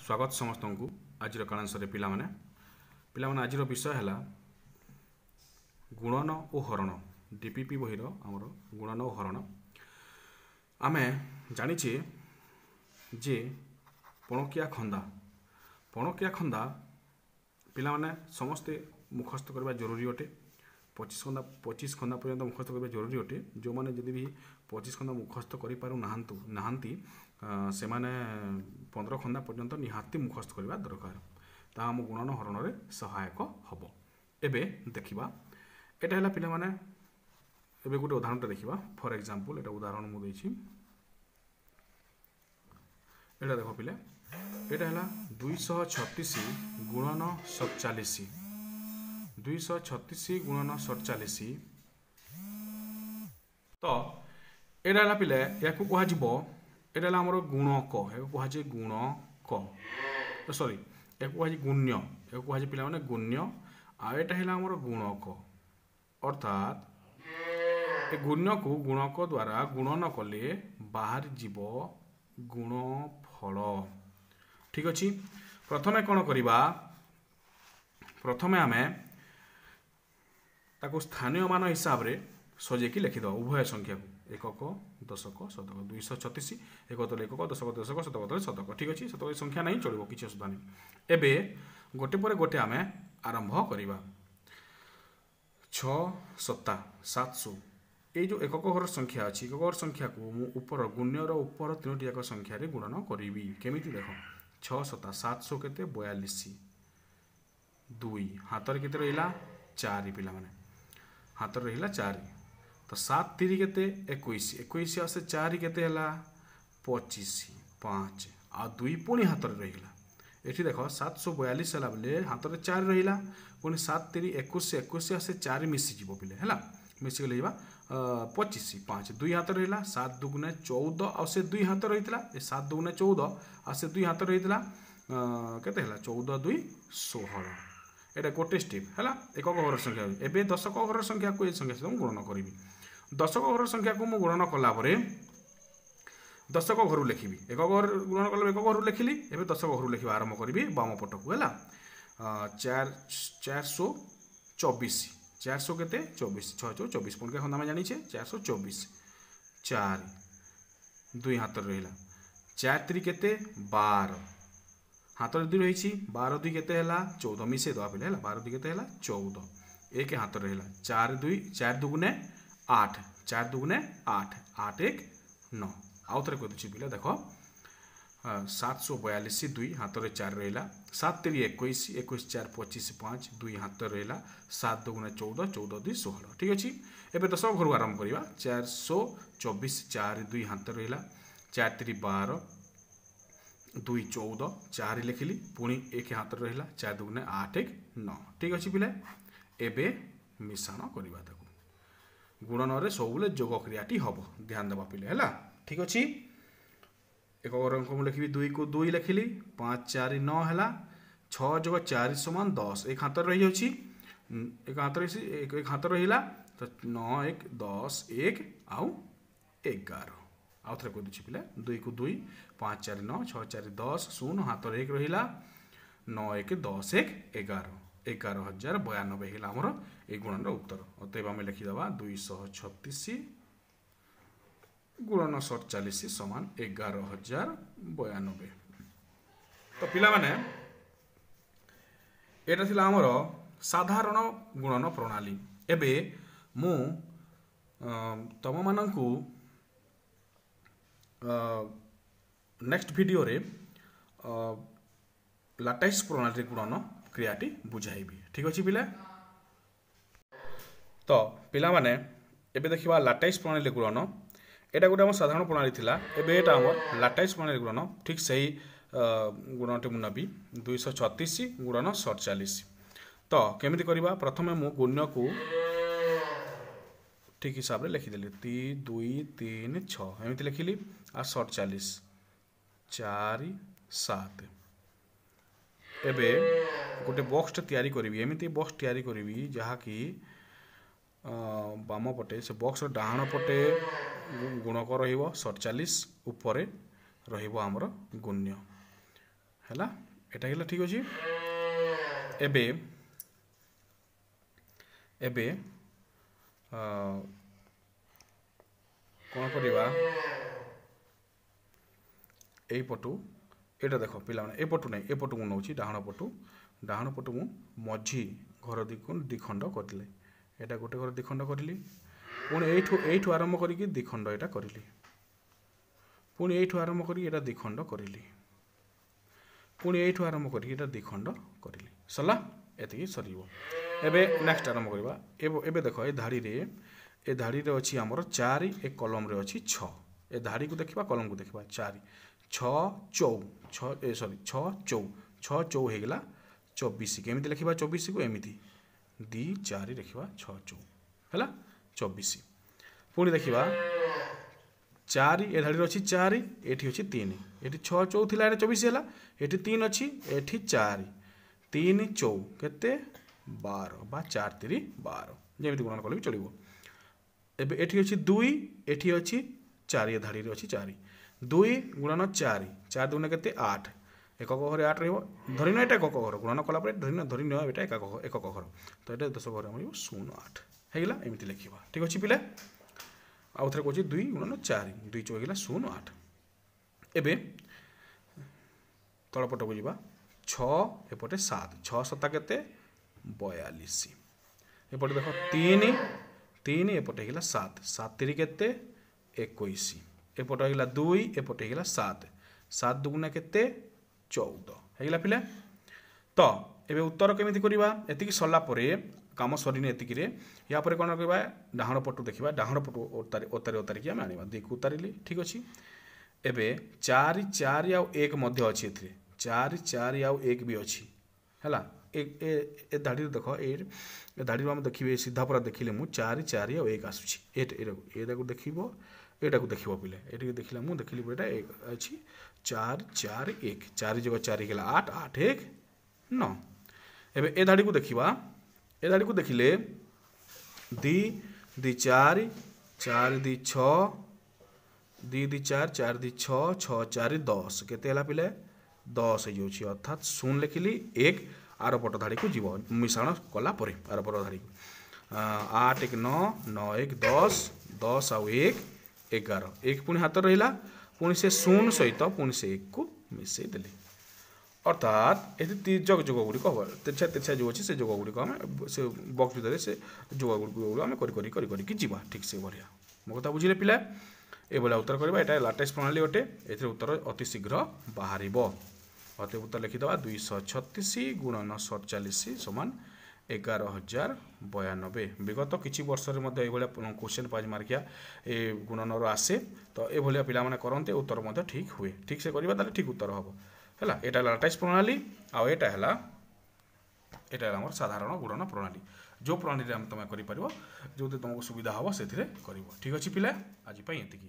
ସ୍ୱାଗତ ସମସ୍ତଙ୍କୁ ଆଜିର କାଳାଂଶରେ। ପିଲାମାନେ, ପିଲାମାନେ, ଆଜିର ବିଷୟ ହେଲା ଗୁଣନ ଓ ହରଣ। ଡିପିପି ବହିର ଆମର ଗୁଣନ ଓ ହରଣ। ଆମେ ଜାଣିଛେ ଯେ ପଣକିଆ ଖନ୍ଦା, ପଣକିଆ ଖନ୍ଦା ପିଲାମାନେ ସମସ୍ତେ ମୁଖସ୍ଥ କରିବା ଜରୁରୀ ଅଟେ। 25 ଖନ୍ଦା, 25 ଖନ୍ଦା ପର୍ଯ୍ୟନ୍ତ ମୁଖସ୍ଥ କରିବା ଜରୁରୀ ଅଟେ। ଯେଉଁମାନେ ଯଦି ବି 25 ଖନ୍ଦା ମୁଖସ୍ଥ କରିପାରୁ ନାହାନ୍ତି, ସେମାନେ 15 ଖନ୍ଦା ପର୍ଯ୍ୟନ୍ତ ନିହାତି ମୁଖସ୍ଥ କରିବା ଦରକାର। ତାହା ଆମ ଗୁଣନ ହରଣରେ ସହାୟକ ହେବ। ଏବେ ଦେଖିବା, ଏଇଟା ହେଲା ପିଲାମାନେ, ଏବେ ଗୋଟେ ଉଦାହରଣଟା ଦେଖିବା। ଫର୍ ଏକ୍ଜାମ୍ପଲ୍, ଏଇଟା ଉଦାହରଣ ମୁଁ ଦେଇଛି। ଏଇଟା ଦେଖ ପିଲା, ଏଇଟା ହେଲା 236 ଗୁଣନ 47। 236 ଗୁଣନ 47। ତ ଏଇଟା ହେଲା ପିଲେ, ୟାକୁ କୁହାଯିବ, ଏଇଟା ହେଲା ଆମର ଗୁଣକ। ଏହାକୁ କୁହାଯାଏ ଗୁଣକ, ସରି, ଏହାକୁ କୁହାଯାଏ ଗୁଣ୍ୟ। ଏହାକୁ କୁହାଯାଏ ପିଲାମାନେ ଗୁଣ୍ୟ, ଆଉ ଏଇଟା ହେଲା ଆମର ଗୁଣକ। ଅର୍ଥାତ୍ ଏ ଗୁଣ୍ୟକୁ ଗୁଣକ ଦ୍ୱାରା ଗୁଣନ କଲେ ବାହାରିଯିବ ଗୁଣଫଳ। ଠିକ୍ ଅଛି। ପ୍ରଥମେ କ'ଣ କରିବା? ପ୍ରଥମେ ଆମେ ତାକୁ ସ୍ଥାନୀୟ ମାନ ହିସାବରେ ସଜେଇକି ଲେଖିଦେବା ଉଭୟ ସଂଖ୍ୟାକୁ, ଏକକ, ଦଶକ, ଶତକ। 236, ଏକ ତଳେ ଏକକ, ଦଶକ ଦଶକ, ଶତକ ତଳେ ଶତକ। ଠିକ୍ ଅଛି। ଶତକ ସଂଖ୍ୟା ନାହିଁ, ଚଳିବ, କିଛି ଅସୁବିଧା ନାହିଁ। ଏବେ ଗୋଟେ ପରେ ଗୋଟେ ଆମେ ଆରମ୍ଭ କରିବା। 6 ସତା 700। ଏଇ ଯେଉଁ ଏକକ ଘର ସଂଖ୍ୟା ଅଛି, ଏକକ ଘର ସଂଖ୍ୟାକୁ ମୁଁ ଉପର ଗୁଣ୍ୟର ଉପର ତିନୋଟି ଯାକ ସଂଖ୍ୟାରେ ଗୁଣନ କରିବି। କେମିତି ଦେଖ। 6 ସତା 700 କେତେ? 42। 2 ହାତରେ କେତେ ରହିଲା? 4। ପିଲାମାନେ, ହାତରେ ରହିଲା 4। ତ 7 ତିରି କେତେ? 21। 21 ଆଉ ସେ 4 କେତେ ହେଲା? 25। 5 ଆଉ 2 ପୁଣି ହାତରେ ରହିଗଲା। ଏଠି ଦେଖ, 742 ହେଲା ବେଲେ ହାତରେ 4 ରହିଲା। ପୁଣି 7 ତିରି 21, 21 ଆଉ ସେ 4 ମିଶିଯିବ ପିଲେ, ହେଲା, ମିଶିଗଲେ ଯିବା 25। 5, 2 ହାତରେ ରହିଲା। 7 ଦୁଗୁଣେ 14, ଆଉ ସେ 2 ହାତ ରହିଥିଲା। ଏ 7 ଦୁଗୁଣେ 14, ଆଉ ସେ 2 ହାତ ରହିଥିଲା। କେତେ ହେଲା? 14 2 16। ଏଇଟା ଗୋଟେ ଷ୍ଟେପ୍ ହେଲା ଏକକ ଘର ସଂଖ୍ୟା। ଏବେ ଦଶକ ଘର ସଂଖ୍ୟାକୁ ଏ ସଂଖ୍ୟା ସହିତ ମୁଁ ଗୁଣନ କରିବି। ଦଶକ ଘର ସଂଖ୍ୟାକୁ ମୁଁ ଗୁଣନ କଲା ପରେ ଦଶକ ଘରୁ ଲେଖିବି। ଏକକ ଘର ଗୁଣନ କଲା, ଏକକ ଘରୁ ଲେଖିଲି। ଏବେ ଦଶକ ଘରୁ ଲେଖିବା ଆରମ୍ଭ କରିବି ବାମ ପଟକୁ। ହେଲା 424। 400 କେତେ? 24। 6 ଚଉ 24। ପଣିକିଆ ଖନ୍ଦା ଆମେ ଜାଣିଛେ। 424, 4, 2 ହାତରେ ରହିଲା। 4 ତିରି କେତେ? 12। ହାତରେ 2 ରହିଛି। 12 2 କେତେ ହେଲା? 14। ମିଶେଇ ଦେବା ପିଲା, ହେଲା। 12 2 କେତେ ହେଲା? 14। 1 ହାତରେ ରହିଲା। 4 2, 4 ଦୁଗୁଣେ 8, 4 ଦୁଗୁଣେ 8, 8 1 9। ଆଉ ଥରେ କହିଦେଉଛି ପିଲା, ଦେଖ। 742, 2 ହାତରେ 4 ରହିଲା। 7 ତିରି 21, 21 4 25, 5, 2 ହାତରେ ରହିଲା। 7 ଦୁଗୁଣେ 14, 14 2 16। ଠିକ୍ ଅଛି। ଏବେ ଦଶକ ଘରୁ ଆରମ୍ଭ କରିବା। 424, 4, 2 ହାତରେ ରହିଲା। 4 ତିରି 12, 2 14, 4 ଲେଖିଲି, ପୁଣି 1 ହାତରେ ରହିଲା। 4 ଦୁଗୁଣେ 8, 1 9। ଠିକ୍ ଅଛି ପିଲା। ଏବେ ମିଶାଣ କରିବା ତାକୁ। ଗୁଣନରେ ସବୁବେଳେ ଯୋଗ କ୍ରିୟାଟି ହେବ, ଧ୍ୟାନ ଦେବା ପିଲେ, ହେଲା। ଠିକ୍ ଅଛି। ଏକ ଅଙ୍କ ମୁଁ ଲେଖିବି, 2କୁ 2 ଲେଖିଲି। 5 4 9 ହେଲା। 6 ଯୋଗ 4 ସମାନ 10। ଏକ ହାତରେ ରହିଯାଉଛି, ଏକ ହାତରେ, ଏକ ହାତରେ ରହିଲା। ତ 9 1 10, 1 ଆଉ 11। ଆଉ ଥରେ କହିଦେଉଛି ପିଲା, 2କୁ 2, 5 4 9, 6 4 10, 0, ହାତରେ 1 ରହିଲା। 9 1 10, 1 11। 11,092 ହେଲା ଆମର ଏଇ ଗୁଣନର ଉତ୍ତର। ଅତଏବ ଆମେ ଲେଖିଦେବା 236 ଗୁଣନ 47 ସମାନ 11,092। ତ ପିଲାମାନେ, ଏଇଟା ଥିଲା ଆମର ସାଧାରଣ ଗୁଣନ ପ୍ରଣାଳୀ। ଏବେ ମୁଁ ତମମାନଙ୍କୁ ନେକ୍ସଟ ଭିଡ଼ିଓରେ ଲାଟାଇସ୍ ପ୍ରଣାଳୀରେ ଗୁଣନ କ୍ରିୟାଟି ବୁଝାଇବି। ଠିକ୍ ଅଛି ପିଲା। ତ ପିଲାମାନେ, ଏବେ ଦେଖିବା ଲାଟାଇସ୍ ପ୍ରଣାଳୀରେ ଗୁଣନ। ଏଇଟା ଗୋଟେ ଆମର ସାଧାରଣ ପ୍ରଣାଳୀ ଥିଲା, ଏବେ ଏଇଟା ଆମର ଲାଟାଇସ୍ ପ୍ରଣାଳୀ ଗୁଣନ। ଠିକ୍ ସେଇ ଗୁଣନଟି ମୁଁ ନେବି, 236 ଗୁଣନ 47। ତ କେମିତି କରିବା? ପ୍ରଥମେ ମୁଁ ଗୁଣ୍ୟକୁ ଠିକ୍ ହିସାବରେ ଲେଖିଦେଲି, 3 2 3 6 ଏମିତି ଲେଖିଲି, ଆଉ 47 4 7। ଏବେ ଗୋଟେ ବକ୍ସଟେ ତିଆରି କରିବି। ଏମିତି ବକ୍ସ ତିଆରି କରିବି ଯାହାକି ବାମ ପଟେ, ସେ ବକ୍ସର ଡାହାଣ ପଟେ ଗୁଣକ ରହିବ 47, ଉପରେ ରହିବ ଆମର ଗୁଣ୍ୟ। ହେଲା, ଏଇଟା ହେଲା ଠିକ୍ ଅଛି। ଏବେ ଏବେ କ'ଣ କରିବା, ଏଇପଟୁ ଏଇଟା ଦେଖ ପିଲାମାନେ, ଏପଟୁ ନାହିଁ, ଏପଟୁ ମୁଁ ନେଉଛି ଡାହାଣ ପଟୁ, ଡାହାଣ ପଟୁ ମୁଁ ମଝି ଘର ଦୁଇ ଖଣ୍ଡ କରିଲି, ଏଇଟା ଗୋଟେ ଘର ଦୁଇ ଖଣ୍ଡ କରିଲି, ପୁଣି ଏଇଠୁ ଆରମ୍ଭ କରିକି ଦୁଇ ଖଣ୍ଡ ଏଇଟା କରିଲି, ପୁଣି ଏଇଠୁ ଆରମ୍ଭ କରିକି ଏଇଟା ଦୁଇ ଖଣ୍ଡ କରିଲି, ପୁଣି ଏଇଠୁ ଆରମ୍ଭ କରିକି ଏଇଟା ଦୁଇ ଖଣ୍ଡ କରିଲି। ସରିଲା, ଏତିକି ସରିଯିବ। ଏବେ ନେକ୍ସଟ ଆରମ୍ଭ କରିବା। ଏବେ ଦେଖ ଏ ଧାଡ଼ିରେ ଅଛି ଆମର 4, ଏ କଲମରେ ଅଛି 6। ଏ ଧାଡ଼ିକୁ ଦେଖିବା, କଲମକୁ ଦେଖିବା, 4 6 ଚଉ 6, ଏ ସରି 6 ଚଉ 6 ଚଉ ହେଇଗଲା 24। କେମିତି ଲେଖିବା 24କୁ? ଏମିତି 2 4 ଲେଖିବା, 6 ଚଉ ହେଲା 24। ପୁଣି ଦେଖିବା 4, ଏ ଧାଡ଼ିରେ ଅଛି 4, ଏଠି ଅଛି 3, ଏଠି 6 ଚଉ ଥିଲା ଏଟା 24 ହେଲା, ଏଠି 3 ଅଛି, ଏଠି 4, 3 ଚଉ କେତେ 12 ବା 4 3 12, ଯେମିତି ଗୁଣନ କଲେ ବି ଚଳିବ। ଏବେ ଏଠି ଅଛି 2, ଏଠି ଅଛି 4, ଏ ଧାଡ଼ିରେ ଅଛି 4, 2 ଗୁଣନ 4, 4 ଦୁଗୁଣ କେତେ 8, ଏକକ ଘରେ 8 ରହିବ, ଧରିନିଅ ଏଇଟା ଏକକ ଘର, ଗୁଣନ କଲା ପରେ ଧରିନିଅ ଏଇଟା ଏକକ ଘର, ତ ଏଇଟା ଦଶ ଘରେ ଆମର 0 8 ହେଇଗଲା। ଏମିତି ଲେଖିବା, ଠିକ୍ ଅଛି ପିଲା। ଆଉ ଥରେ କହୁଛି 2 ଗୁଣନ 4, 2 ଚଉ ହେଇଗଲା 0 8। ଏବେ ତଳ ପଟକୁ ଯିବା, 6 ଏପଟେ 7, 6 7 କେତେ 42, ଏପଟେ ଦେଖ 3 3 ଏପଟେ ହେଇଗଲା 7, 7 3 କେତେ 21, ଏପଟେ ହେଇଗଲା 2, ଏପଟେ ହେଇଗଲା 7, 7 ଦୁଗୁଣା କେତେ 14 ହେଇଗଲା ପିଲା। ତ ଏବେ ଉତ୍ତର କେମିତି କରିବା? ଏତିକି ସରିଲା ପରେ କାମ ସରିନି ଏତିକିରେ, ୟା ପରେ କ'ଣ କରିବା, ଡାହାଣ ପଟୁ ଦେଖିବା, ଡାହାଣ ପଟୁ ଓତାରି ଓତାରିକି ଆମେ ଆଣିବା, 2କୁ ଉତାରିଲି, ଠିକ୍ ଅଛି। ଏବେ 4 4 ଆଉ 1 ମଧ୍ୟ ଅଛି ଏଥିରେ, 4 4 ଆଉ 1 ବି ଅଛି, ହେଲା। ଏ ଧାଡ଼ିରେ ଦେଖ, ଏ ଧାଡ଼ିରୁ ଆମେ ଦେଖିବେ ସିଧା ପୁରା ଦେଖିଲେ ମୁଁ 4 4 ଆଉ 1 ଆସୁଛି, ଏଟାକୁ ଦେଖିବ, ଏଟାକୁ ଦେଖିବ ପିଲେ, ଏଠିକି ଦେଖିଲା ମୁଁ ଦେଖିଲି ଏଇଟା 1 ଅଛି, 4 4 1, 4 ଯୋଗ 4 ହେଇଗଲା 8, 8 1 9। ଏବେ ଏ ଧାଡ଼ିକୁ ଦେଖିବା, ଏ ଧାଡ଼ିକୁ ଦେଖିଲେ 2 2 4, 4 2 6, 2 2 4, 4 2 6, 6 4 10, କେତେ ହେଲା ପିଲେ 10 ହେଇଯାଉଛି, ଅର୍ଥାତ୍ 0 ଲେଖିଲି, 1 ଆର ପଟ ଧାଡ଼ିକୁ ଯିବ ମିଶାଣ କଲା ପରେ, ଆର ପଟ ଧାଡ଼ିକୁ 8 1 9, 9 1 10, 10 ଆଉ 1 11, 1 ପୁଣି ହାତ ରହିଲା, ପୁଣି ସେ 0 ସହିତ ପୁଣି ସେ 1କୁ ମିଶାଇ ଦେଲି, ଅର୍ଥାତ୍ ଏଠି ତିର୍ଯକ ଯୋଗ ଗୁଡ଼ିକ ହେବ, ତେର୍ଛା ତେର୍ଛା ଯେଉଁ ଅଛି ସେ ଯୋଗ ଗୁଡ଼ିକ ଆମେ ସେ ବକ୍ସ ଭିତରେ ସେ ଯୋଗ ଗୁଡ଼ିକ ଆମେ କରି କରି କରି କରିକି ଯିବା, ଠିକ୍ ସେଭଳିଆ। ମୋ କଥା ବୁଝିଲେ ପିଲା? ଏଭଳିଆ ଉତ୍ତର କରିବା। ଏଇଟା ଲାଟେଷ୍ଟ ପ୍ରଣାଳୀ ଅଟେ, ଏଥିରେ ଉତ୍ତର ଅତି ଶୀଘ୍ର ବାହାରିବ। ଅତି ଉତ୍ତର ଲେଖିଦେବା 236 ଗୁଣନ 47 ସମାନ 11092। ବିଗତ କିଛି ବର୍ଷରେ ମଧ୍ୟ ଏଇଭଳିଆ କୋଶ୍ଚେନ୍ 5 ମାର୍କିଆ ଏ ଗୁଣନର ଆସେ, ତ ଏଭଳିଆ ପିଲାମାନେ କରନ୍ତି, ଉତ୍ତର ମଧ୍ୟ ଠିକ୍ ହୁଏ। ଠିକ୍ ସେ କରିବା ତାହେଲେ ଠିକ୍ ଉତ୍ତର ହେବ, ହେଲା। ଏଇଟା ହେଲା ଲାଟାଇସ୍ ପ୍ରଣାଳୀ, ଆଉ ଏଇଟା ହେଲା ଆମର ସାଧାରଣ ଗୁଣନ ପ୍ରଣାଳୀ। ଯେଉଁ ପ୍ରଣାଳୀରେ ଆମେ ତୁମେ କରିପାରିବ, ଯେଉଁଥିରେ ତୁମକୁ ସୁବିଧା ହେବ ସେଥିରେ କରିବ। ଠିକ୍ ଅଛି ପିଲା, ଆଜି ପାଇଁ ଏତିକି।